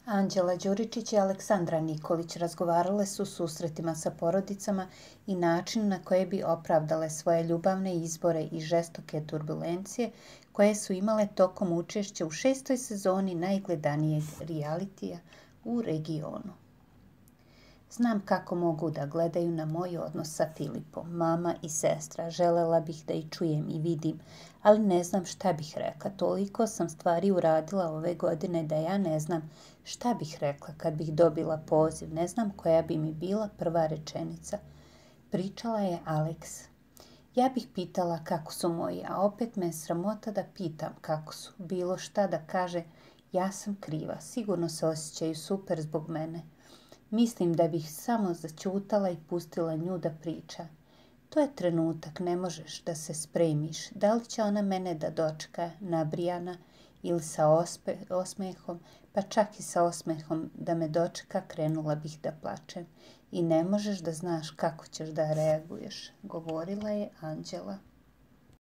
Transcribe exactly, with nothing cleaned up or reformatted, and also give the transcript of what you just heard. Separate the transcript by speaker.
Speaker 1: Anđela Đuričić i Aleksandra Nikolić razgovarale su o susretima sa porodicama i načinu na koje bi opravdale svoje ljubavne izbore i žestoke turbulencije koje su imale tokom učešća u šestoj sezoni najgledanijeg realitija u regionu. Znam kako mogu da gledaju na moj odnos sa Filipom, mama i sestra. Želela bih da ih čujem i vidim, ali ne znam šta bih rekla. Toliko sam stvari uradila ove godine da ja ne znam šta bih rekla kad bih dobila poziv. Ne znam koja bi mi bila prva rečenica. Pričala je Aleks. Ja bih pitala kako su moji, a opet me je sramota da pitam kako su. Bilo šta da kaže, ja sam kriva. Sigurno se osjećaju super zbog mene. Mislim da bih samo zaćutala i pustila nju da priča. To je trenutak, ne možeš da se spremiš. Da li će ona mene da dočeka nabrijana ili sa ospe, osmehom, pa čak i sa osmehom da me dočeka, krenula bih da plačem. I ne možeš da znaš kako ćeš da reaguješ, govorila je Anđela.